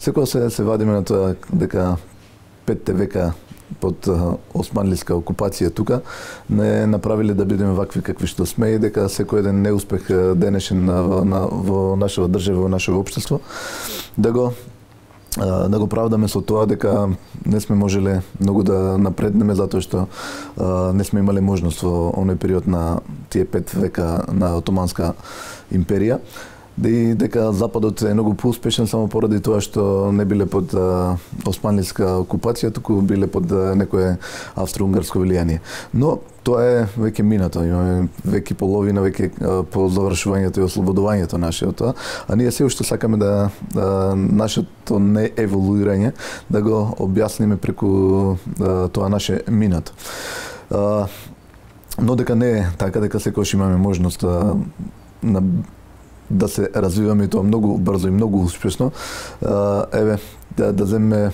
секогаш се вадиме на тоа дека 5 века под османлиска окупација тука не направиле да бидеме вакви какви што сме и дека секој еден неуспех денешен во нашава држава, во нашето општество, да го правдаме со тоа дека не сме можеле многу да напреднеме затоа што не сме имале можност во оној период на тие 5 века на Отоманска империја. И дека Западот е многу поуспешен само поради тоа што не биле под османлиска окупација, туку биле под некое австро-унгарско влијание. Но тоа е веќе минато, имаме веќе половина, веќе по завршувањето и ослободувањето нашето, а ние се уште сакаме да нашето не еволуирање да го објасниме преку тоа наше минато. Но дека не е така, дека секогаш имаме можност да се развиваме и тоа многу брзо и многу успешно. Еве, да земеме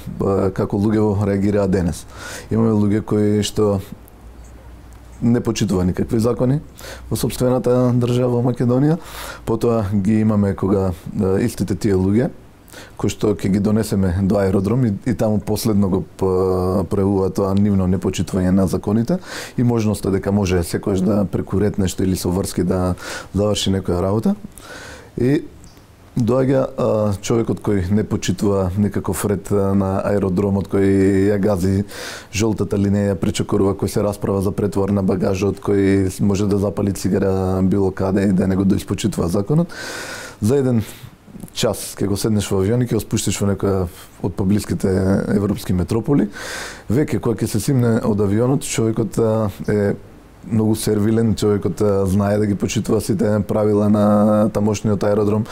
како луѓе реагираат денес. Имаме луѓе кои што не почитува никакви закони во сопствената држава во Македонија, потоа ги имаме кога истите тие луѓе кои што ќе ги донесеме до аеродром и таму последно го пројавува тоа нивно непочитување на законите и можноста дека може секојаш да преку ред нешто или со врски да заврши некоја работа. И доаѓа човекот кој не почитува никаков ред на аеродромот, кој ја гази жолтата линија, пречекорува, кој се расправа за претовар на багажот, кој може да запали цигара било каде и да не го доиспочитува законот. За еден час ќе го седнеш во авион и ќе го спуштиш во некоја од поблиските европски метрополи. Веќе кога ќе се симне од авионот, човекот е многу сервилен, човекот знае да ги почитува сите правила на тамошниот аеродром,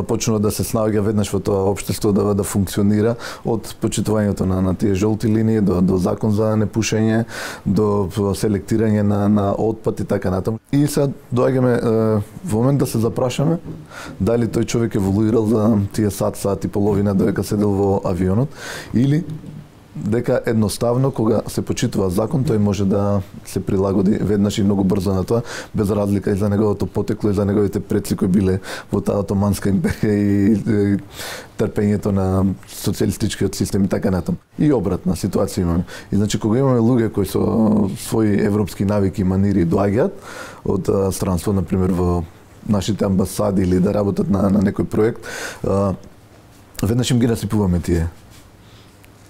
почнува да се снаоѓа веднаш во тоа општество да функционира, од почитувањето на тие жолти линии до закон за непушење, до селектирање на отпад и така натаму. И сега доаѓаме во момент да се запрашаме дали тој човек еволуирал за тие сат и половина додека седел во авионот или дека едноставно кога се почитува закон тој може да се прилагоди веднаш и многу брзо на тоа, без разлика и за неговото потекло и за неговите предци кои биле во таа Отоманска империја и трпењето на социјалистичкиот систем и така натаму. И обратна ситуација имаме. И значи кога имаме луѓе кои со своји европски навики и манири доаѓаат од странство, на пример во нашите амбасади или да работат на некој проект, веднаш им ги насипуваме тие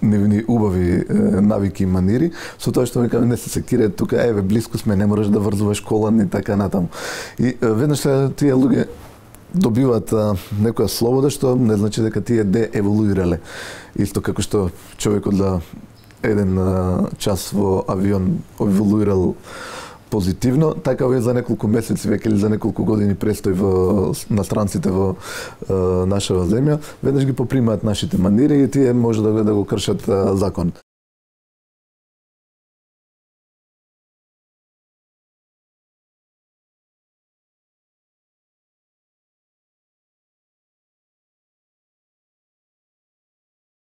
нивни убави навики и манири, со тоа што викаме не се секире тука, еве блиску сме, не мораш да врзуваш колан и така натаму. И веднаш тие луѓе добиваат некоја слобода што не значи дека тие дееволуирале. Исто како што човекот за еден час во авион еволуирал позитивно, така е за неколку месеци веќе или за неколку години престој на странците во нашава земја, веднаш ги попримаат нашите манири и тие може да го кршат закон.